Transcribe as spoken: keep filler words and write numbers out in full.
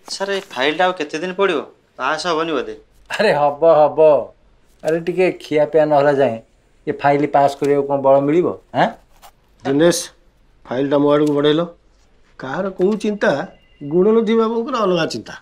Sir, ଏ ଫାଇଲ୍ଟା ଆଉ କେତେ ଦିନ ପଡ଼ିବ? ପାସ୍ ହେବନି ବୋଧେ। ଆରେ ହବ ହବ। ଆରେ ଟିକେ ଖିଆପିଆ ନହେଲା ଯାଏଁ ଏ ଫାଇଲ୍ ପାସ୍ କରିବାକୁ କ'ଣ ବଳ ମିଳିବ? ଆଁ ଦିନେଶ, ଫାଇଲ୍ଟା ମୋ ଆଡ଼କୁ ବଢ଼େଇଲ। କାହାର କେଉଁ ଚିନ୍ତା? ଗୁଣନିଧି ବାବୁଙ୍କର ଅଲଗା ଚିନ୍ତା।